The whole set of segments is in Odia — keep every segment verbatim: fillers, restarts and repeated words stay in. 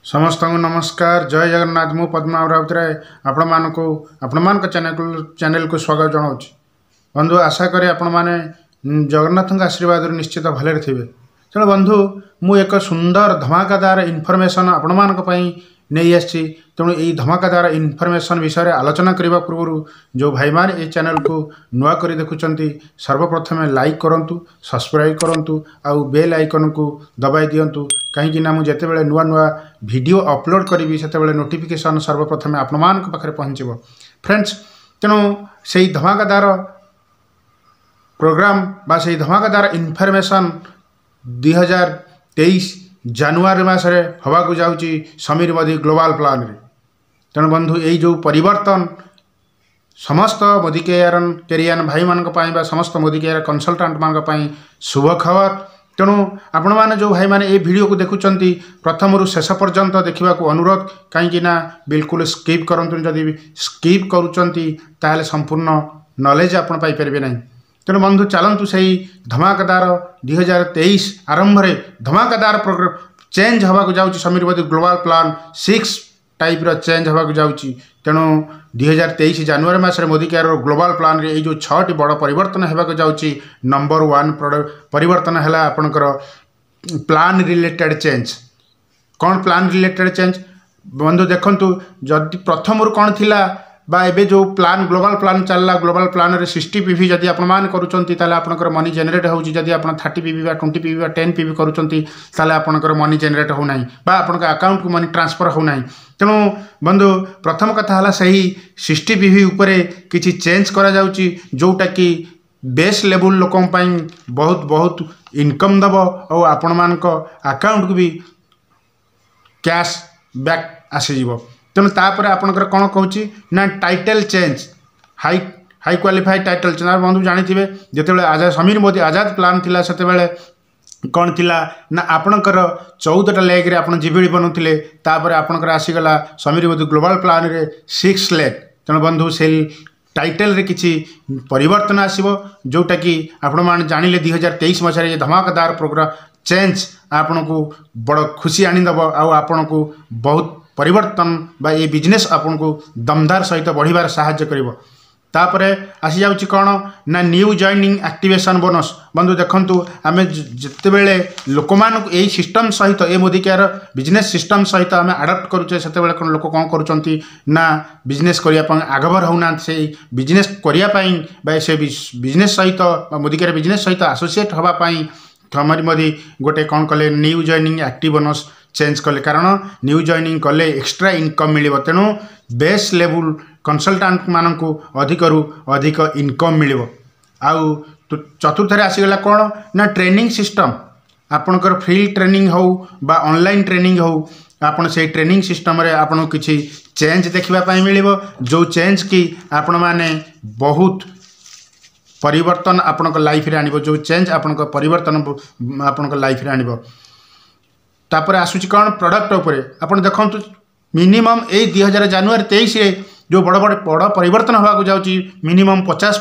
ସମସ୍ତଙ୍କୁ ନମସ୍କାର ଜୟ ଜଗନ୍ନାଥ ମୁଁ ପଦ୍ମନାଭ ରାଉତରାୟ ଆପଣମାନଙ୍କୁ ଆପଣମାନଙ୍କ ଚ୍ୟାନେଲକୁ ଚ୍ୟାନେଲକୁ ସ୍ୱାଗତ ଜଣାଉଛି ବନ୍ଧୁ ଆଶା କରେ ଆପଣମାନେ ଜଗନ୍ନାଥଙ୍କ ଆଶୀର୍ବାଦରୁ ନିଶ୍ଚିତ ଭଲରେ ଥିବେ ତେଣୁ ବନ୍ଧୁ ମୁଁ ଏକ ସୁନ୍ଦର ଧମାକାଦାର ଇନଫର୍ମେସନ୍ ଆପଣମାନଙ୍କ ପାଇଁ ନେଇ ଆସିଛି ତେଣୁ ଏଇ ଧମାକାଦାର ଇନଫର୍ମେସନ୍ ବିଷୟରେ ଆଲୋଚନା କରିବା ପୂର୍ବରୁ ଯେଉଁ ଭାଇମାନେ ଏହି ଚ୍ୟାନେଲକୁ ନୂଆ କରି ଦେଖୁଛନ୍ତି ସର୍ବପ୍ରଥମେ ଲାଇକ୍ କରନ୍ତୁ ସବସ୍କ୍ରାଇବ୍ କରନ୍ତୁ ଆଉ ବେଲ୍ ଆଇକନ୍କୁ ଦବାଇ ଦିଅନ୍ତୁ କାହିଁକି ନା ମୁଁ ଯେତେବେଳେ ନୂଆ ନୂଆ ଭିଡ଼ିଓ ଅପଲୋଡ଼ କରିବି ସେତେବେଳେ ନୋଟିଫିକେସନ୍ ସର୍ବପ୍ରଥମେ ଆପଣମାନଙ୍କ ପାଖରେ ପହଞ୍ଚିବ ଫ୍ରେଣ୍ଡସ୍ ତେଣୁ ସେଇ ଧମାକାଦାର ପ୍ରୋଗ୍ରାମ ବା ସେଇ ଧମାକାଦାର ଇନଫର୍ମେସନ୍ ଦୁଇ ହଜାର ତେଇଶ ଜାନୁଆରୀ ମାସରେ ହେବାକୁ ଯାଉଛି ସମୀର ମୋଦି ଗ୍ଲୋବାଲ୍ ପ୍ଲାନ୍ରେ ତେଣୁ ବନ୍ଧୁ ଏଇ ଯେଉଁ ପରିବର୍ତ୍ତନ ସମସ୍ତ ମୋଦି କେୟାର କେରିଆନ୍ ଭାଇମାନଙ୍କ ପାଇଁ ବା ସମସ୍ତ ମୋଦି କେୟାର କନସଲଟାଣ୍ଟମାନଙ୍କ ପାଇଁ ଶୁଭ ଖବର ତେଣୁ ଆପଣମାନେ ଯେଉଁ ଭାଇମାନେ ଏଇ ଭିଡ଼ିଓକୁ ଦେଖୁଛନ୍ତି ପ୍ରଥମରୁ ଶେଷ ପର୍ଯ୍ୟନ୍ତ ଦେଖିବାକୁ ଅନୁରୋଧ କାହିଁକି ନା ବିଲକୁଲ ସ୍କିପ୍ କରନ୍ତୁନି ଯଦି ସ୍କିପ୍ କରୁଛନ୍ତି ତାହେଲେ ସମ୍ପୂର୍ଣ୍ଣ ନଲେଜ ଆପଣ ପାଇପାରିବେ ନାହିଁ ତେଣୁ ବନ୍ଧୁ ଚାଲନ୍ତୁ ସେଇ ଧମାକାଦାର ଦୁଇ ହଜାର ତେଇଶ ଆରମ୍ଭରେ ଧମାକାଦାର ପ୍ରୋଗ୍ରାମ ଚେଞ୍ଜ ହେବାକୁ ଯାଉଛି Sameer Modi global plan six ଟାଇପ୍ର ଚେଞ୍ଜ ହେବାକୁ ଯାଉଛି ତେଣୁ ଦୁଇ ହଜାର ତେଇଶ ଜାନୁଆରୀ ମାସରେ ମୋଦି କେୟାରର ଗ୍ଲୋବାଲ୍ ପ୍ଲାନ୍ରେ ଏଇ ଯେଉଁ ଛଅଟି ବଡ଼ ପରିବର୍ତ୍ତନ ହେବାକୁ ଯାଉଛି ନମ୍ବର ୱାନ୍ ପରିବର୍ତ୍ତନ ହେଲା ଆପଣଙ୍କର ପ୍ଲାନ୍ ରିଲେଟେଡ଼୍ ଚେଞ୍ଜ କ'ଣ ପ୍ଲାନ୍ ରିଲେଟେଡ଼୍ ଚେଞ୍ଜ ବନ୍ଧୁ ଦେଖନ୍ତୁ ଯଦି ପ୍ରଥମରୁ କ'ଣ ଥିଲା ବା ଏବେ ଯେଉଁ ପ୍ଲାନ୍ ଗ୍ଲୋବାଲ୍ ପ୍ଲାନ୍ ଚାଲିଲା ଗ୍ଲୋବାଲ୍ ପ୍ଲାନ୍ରେ ସିକ୍ସଟି ପି ଭି ଯଦି ଆପଣମାନେ କରୁଛନ୍ତି ତାହେଲେ ଆପଣଙ୍କର ମନି ଜେନେରେଟ୍ ହେଉଛି ଯଦି ଆପଣ ଥାର୍ଟି ପି ଭି ବା ଟ୍ୱେଣ୍ଟି ପି ଭି ବା ଟେନ୍ ପି ଭି କରୁଛନ୍ତି ତାହେଲେ ଆପଣଙ୍କର ମନି ଜେନେରେଟ୍ ହେଉନାହିଁ ବା ଆପଣଙ୍କ ଆକାଉଣ୍ଟକୁ ମନି ଟ୍ରାନ୍ସଫର୍ ହେଉନାହିଁ ତେଣୁ ବନ୍ଧୁ ପ୍ରଥମ କଥା ହେଲା ସେହି ସିକ୍ସଟି ପି ଭି ଉପରେ କିଛି ଚେଞ୍ଜ କରାଯାଉଛି ଯେଉଁଟାକି ବେସ୍ ଲେବୁଲ୍ ଲୋକଙ୍କ ପାଇଁ ବହୁତ ବହୁତ ଇନକମ୍ ଦେବ ଆଉ ଆପଣମାନଙ୍କ ଆକାଉଣ୍ଟକୁ ବି କ୍ୟାସ୍ ବ୍ୟାକ୍ ଆସିଯିବ ତେଣୁ ତାପରେ ଆପଣଙ୍କର କ'ଣ କହୁଛି ନା title change high high qualified title change ବନ୍ଧୁ ଜାଣିଥିବେ ଯେତେବେଳେ ଆଜାଦ ସମୀର ମୋଦି ଆଜାଦ ପ୍ଲାନ୍ ଥିଲା ସେତେବେଳେ କ'ଣ ଥିଲା ନା ଆପଣଙ୍କର ଚଉଦଟା ଲେଗ୍ରେ ଆପଣ ଜିବିଡ଼ି ବନାଉଥିଲେ ତାପରେ ଆପଣଙ୍କର ଆସିଗଲା ସମୀର ମୋଦି ଗ୍ଲୋବାଲ୍ ପ୍ଲାନ୍ରେ ସିକ୍ସ ଲେଗ୍ ତେଣୁ ବନ୍ଧୁ ସେଇ ଟାଇଟେଲ୍ରେ କିଛି ପରିବର୍ତ୍ତନ ଆସିବ ଯେଉଁଟାକି ଆପଣମାନେ ଜାଣିଲେ ଦୁଇ ହଜାର ତେଇଶ ମସିହାରେ ଏ ଧମାକାଦାର ପ୍ରୋଗ୍ରାମ ଚେଞ୍ଜ ଆପଣଙ୍କୁ ବଡ଼ ଖୁସି ଆଣିଦେବ ଆଉ ଆପଣଙ୍କୁ ବହୁତ ପରିବର୍ତ୍ତନ ବା ଏ ବିଜନେସ୍ ଆପଣଙ୍କୁ ଦମଦାର ସହିତ ବଢ଼ିବାରେ ସାହାଯ୍ୟ କରିବ ତାପରେ ଆସିଯାଉଛି କ'ଣ ନା ନ୍ୟୁ ଜଏନିଂ ଆକ୍ଟିଭେସନ୍ ବୋନସ୍ ବନ୍ଧୁ ଦେଖନ୍ତୁ ଆମେ ଯେତେବେଳେ ଲୋକମାନଙ୍କୁ ଏଇ ସିଷ୍ଟମ୍ ସହିତ ଏ ମୋଦି କେୟାର ବିଜନେସ୍ ସିଷ୍ଟମ୍ ସହିତ ଆମେ ଆଡ଼ପ୍ଟ କରୁଛେ ସେତେବେଳେ କ'ଣ ଲୋକ କ'ଣ କରୁଛନ୍ତି ନା ବିଜନେସ୍ କରିବା ପାଇଁ ଆଗଭର ହେଉନାହାନ୍ତି ସେଇ ବିଜନେସ୍ କରିବା ପାଇଁ ବା ସେ ବିଜନେସ୍ ସହିତ ବା ମୋଦି କେୟାର ବିଜନେସ୍ ସହିତ ଆସୋସିଏଟ୍ ହେବା ପାଇଁ ସମୀର ମୋଦି ଗୋଟେ କ'ଣ କଲେ new joining active bonus change କଲେ କାରଣ ନ୍ୟୁ ଜଏନିଂ କଲେ ଏକ୍ସଟ୍ରା ଇନକମ୍ ମିଳିବ ତେଣୁ ବେସ୍ ଲେବୁଲ୍ କନସଲଟାଣ୍ଟମାନଙ୍କୁ ଅଧିକରୁ ଅଧିକ ଇନକମ୍ ମିଳିବ ଆଉ ଚତୁର୍ଥରେ ଆସିଗଲା କ'ଣ ନା ଟ୍ରେନିଂ ସିଷ୍ଟମ୍ ଆପଣଙ୍କର ଫ୍ରି ଟ୍ରେନିଂ ହେଉ ବା ଅନଲାଇନ୍ ଟ୍ରେନିଂ ହେଉ ଆପଣ ସେଇ ଟ୍ରେନିଂ ସିଷ୍ଟମ୍ରେ ଆପଣଙ୍କୁ କିଛି ଚେଞ୍ଜ ଦେଖିବା ପାଇଁ ମିଳିବ ଯେଉଁ ଚେଞ୍ଜ କି ଆପଣମାନେ ବହୁତ ପରିବର୍ତ୍ତନ ଆପଣଙ୍କ ଲାଇଫରେ ଆଣିବ ଯେଉଁ ଚେଞ୍ଜ ଆପଣଙ୍କ ପରିବର୍ତ୍ତନ ଆପଣଙ୍କ ଲାଇଫରେ ଆଣିବ ତାପରେ ଆସୁଛି କ'ଣ ପ୍ରଡ଼କ୍ଟ ଉପରେ ଆପଣ ଦେଖନ୍ତୁ ମିନିମମ୍ ଏଇ ଦୁଇ ହଜାର ଜାନୁଆରୀ ତେଇଶରେ ଯେଉଁ ବଡ଼ ବଡ଼ ବଡ଼ ପରିବର୍ତ୍ତନ ହେବାକୁ ଯାଉଛି ମିନିମମ୍ ପଚାଶ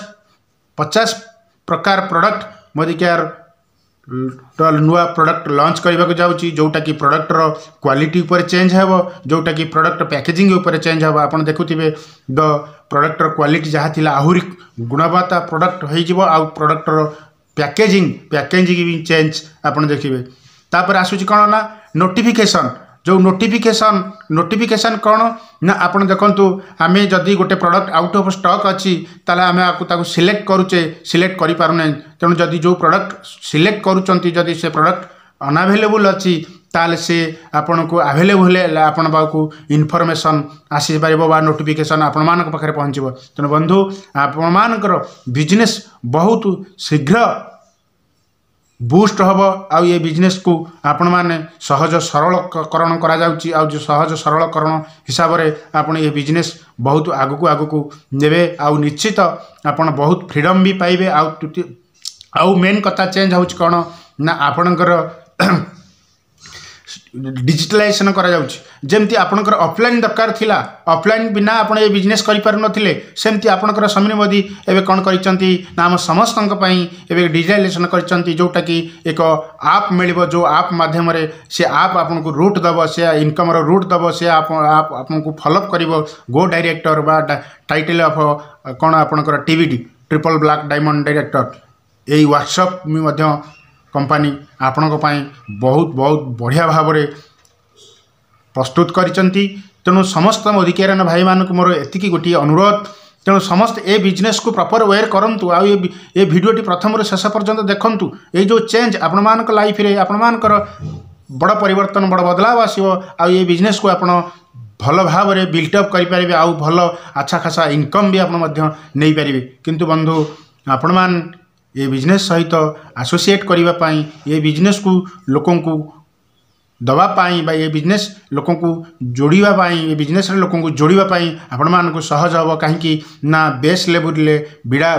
ପଚାଶ ପ୍ରକାର ପ୍ରଡ଼କ୍ଟ ମୋଦି କେୟାର ନୂଆ ପ୍ରଡ଼କ୍ଟ ଲଞ୍ଚ କରିବାକୁ ଯାଉଛି ଯେଉଁଟାକି ପ୍ରଡ଼କ୍ଟର କ୍ୱାଲିଟି ଉପରେ ଚେଞ୍ଜ ହେବ ଯେଉଁଟାକି ପ୍ରଡ଼କ୍ଟ ପ୍ୟାକେଜିଂ ଉପରେ ଚେଞ୍ଜ ହେବ ଆପଣ ଦେଖୁଥିବେ ଦ ପ୍ରଡ଼କ୍ଟର କ୍ୱାଲିଟି ଯାହା ଥିଲା ଆହୁରି ଗୁଣବତ୍ତା ପ୍ରଡ଼କ୍ଟ ହୋଇଯିବ ଆଉ ପ୍ରଡ଼କ୍ଟର ପ୍ୟାକେଜିଂ ପ୍ୟାକେଜିଂ ବି ଚେଞ୍ଜ ଆପଣ ଦେଖିବେ ତାପରେ ଆସୁଛି କ'ଣ ନା ନୋଟିଫିକେସନ୍ ଯେଉଁ ନୋଟିଫିକେସନ୍ ନୋଟିଫିକେସନ୍ କ'ଣ ନା ଆପଣ ଦେଖନ୍ତୁ ଆମେ ଯଦି ଗୋଟେ ପ୍ରଡ଼କ୍ଟ ଆଉଟ୍ ଅଫ୍ ଷ୍ଟକ୍ ଅଛି ତାହେଲେ ଆମେ ଆକୁ ତାକୁ ସିଲେକ୍ଟ କରୁଛେ ସିଲେକ୍ଟ କରିପାରୁନାହିଁ ତେଣୁ ଯଦି ଯେଉଁ ପ୍ରଡ଼କ୍ଟ ସିଲେକ୍ଟ କରୁଛନ୍ତି ଯଦି ସେ ପ୍ରଡ଼କ୍ଟ ଅନଆଭେଲେବୁଲ୍ ଅଛି ତାହେଲେ ସେ ଆପଣଙ୍କୁ ଆଭେଲେବୁଲ୍ ହେଲେ ଆପଣ ପାଖକୁ ଇନଫର୍ମେସନ୍ ଆସିପାରିବ ବା ନୋଟିଫିକେସନ୍ ଆପଣମାନଙ୍କ ପାଖରେ ପହଞ୍ଚିବ ତେଣୁ ବନ୍ଧୁ ଆପଣମାନଙ୍କର ବିଜନେସ୍ ବହୁତ ଶୀଘ୍ର ବୁଷ୍ଟ ହେବ ଆଉ ଏ ବିଜନେସ୍କୁ ଆପଣମାନେ ସହଜ ସରଳକରଣ କରାଯାଉଛି ଆଉ ଯେଉଁ ସହଜ ସରଳକରଣ ହିସାବରେ ଆପଣ ଏ ବିଜନେସ୍ ବହୁତ ଆଗକୁ ଆଗକୁ ନେବେ ଆଉ ନିଶ୍ଚିତ ଆପଣ ବହୁତ ଫ୍ରିଡ଼ମ୍ ବି ପାଇବେ ଆଉ ଆଉ ମେନ୍ କଥା ଚେଞ୍ଜ ହେଉଛି କ'ଣ ନା ଆପଣଙ୍କର ଡିଜିଟାଲାଇଜେସନ୍ କରାଯାଉଛି ଯେମିତି ଆପଣଙ୍କର ଅଫଲାଇନ୍ ଦରକାର ଥିଲା ଅଫଲାଇନ୍ ବିନା ଆପଣ ଏ ବିଜନେସ୍ କରିପାରୁନଥିଲେ ସେମିତି ଆପଣଙ୍କର ସମୀର ମୋଦି ଏବେ କ'ଣ କରିଛନ୍ତି ନା ଆମ ସମସ୍ତଙ୍କ ପାଇଁ ଏବେ ଡିଜିଟାଲାଇଜେସନ୍ କରିଛନ୍ତି ଯେଉଁଟାକି ଏକ ଆପ୍ ମିଳିବ ଯେଉଁ ଆପ୍ ମାଧ୍ୟମରେ ସେ ଆପ୍ ଆପଣଙ୍କୁ ରୁଟ୍ ଦେବ ସେ ଇନକମ୍ର ରୁଟ୍ ଦେବ ସେ ଆପ୍ ଆପଣଙ୍କୁ ଫଲୋଅପ୍ କରିବ ଗୋ ଡାଇରେକ୍ଟର ବା ଟାଇଟଲ୍ ଅଫ୍ କ'ଣ ଆପଣଙ୍କର TBD triple black diamond director ଏଇ ୱାର୍କସପ୍ ବି ମଧ୍ୟ କମ୍ପାନୀ ଆପଣଙ୍କ ପାଇଁ ବହୁତ ବହୁତ ବଢ଼ିଆ ଭାବରେ ପ୍ରସ୍ତୁତ କରିଛନ୍ତି ତେଣୁ ସମସ୍ତ ମୋଦିକେୟାରିଆନ ଭାଇମାନଙ୍କୁ ମୋର ଏତିକି ଗୋଟିଏ ଅନୁରୋଧ ତେଣୁ ସମସ୍ତେ ଏ ବିଜନେସ୍କୁ ପ୍ରପର୍ ୱେରେ କରନ୍ତୁ ଆଉ ଏ ଏ ଭିଡ଼ିଓଟି ପ୍ରଥମରୁ ଶେଷ ପର୍ଯ୍ୟନ୍ତ ଦେଖନ୍ତୁ ଏଇ ଯେଉଁ ଚେଞ୍ଜ ଆପଣମାନଙ୍କ ଲାଇଫରେ ଆପଣମାନଙ୍କର ବଡ଼ ପରିବର୍ତ୍ତନ ବଡ଼ ବଦଳାବ ଆସିବ ଆଉ ଏ ବିଜନେସ୍କୁ ଆପଣ ଭଲ ଭାବରେ ବିଲ୍ଟଅପ୍ କରିପାରିବେ ଆଉ ଭଲ ଆଚ୍ଛା ଖାସା ଇନକମ୍ ବି ଆପଣ ମଧ୍ୟ ନେଇପାରିବେ କିନ୍ତୁ ବନ୍ଧୁ ଆପଣମାନେ ଏ ବିଜନେସ୍ ସହିତ ଆସୋସିଏଟ୍ କରିବା ପାଇଁ ଏ ବିଜନେସ୍କୁ ଲୋକଙ୍କୁ ଦେବା ପାଇଁ ବା ଏ ବିଜନେସ୍ ଲୋକଙ୍କୁ ଯୋଡ଼ିବା ପାଇଁ ଏ ବିଜନେସ୍ରେ ଲୋକଙ୍କୁ ଯୋଡ଼ିବା ପାଇଁ ଆପଣମାନଙ୍କୁ ସହଜ ହେବ କାହିଁକି ନା ବେସ୍ ଲେବୁଲରେ ବିଡ଼ା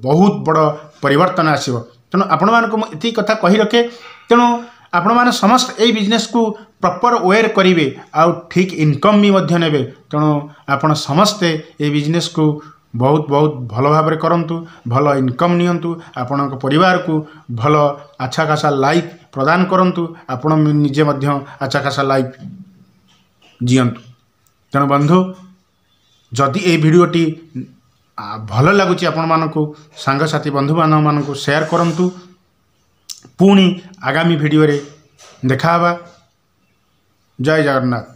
ବହୁତ ବଡ଼ ପରିବର୍ତ୍ତନ ଆସିବ ତେଣୁ ଆପଣମାନଙ୍କୁ ମୁଁ ଏତିକି କଥା କହି ରଖେ ତେଣୁ ଆପଣମାନେ ସମସ୍ତେ ଏଇ ବିଜନେସ୍କୁ ପ୍ରପର୍ ୱେରେ କରିବେ ଆଉ ଠିକ୍ ଇନକମ୍ ବି ମଧ୍ୟ ନେବେ ତେଣୁ ଆପଣ ସମସ୍ତେ ଏ ବିଜନେସ୍କୁ ବହୁତ ବହୁତ ଭଲ ଭାବରେ କରନ୍ତୁ ଭଲ ଇନକମ୍ ନିଅନ୍ତୁ ଆପଣଙ୍କ ପରିବାରକୁ ଭଲ ଆଚ୍ଛା ଖାସା ଲାଇଫ୍ ପ୍ରଦାନ କରନ୍ତୁ ଆପଣ ନିଜେ ମଧ୍ୟ ଆଚ୍ଛା ଖାସା ଲାଇଫ୍ ଜିଅନ୍ତୁ ତେଣୁ ବନ୍ଧୁ ଯଦି ଏଇ ଭିଡ଼ିଓଟି ଭଲ ଲାଗୁଛି ଆପଣମାନଙ୍କୁ ସାଙ୍ଗସାଥି ବନ୍ଧୁବାନ୍ଧବମାନଙ୍କୁ ସେୟାର କରନ୍ତୁ ପୁଣି ଆଗାମୀ ଭିଡ଼ିଓରେ ଦେଖା ହେବା ଜୟ ଜଗନ୍ନାଥ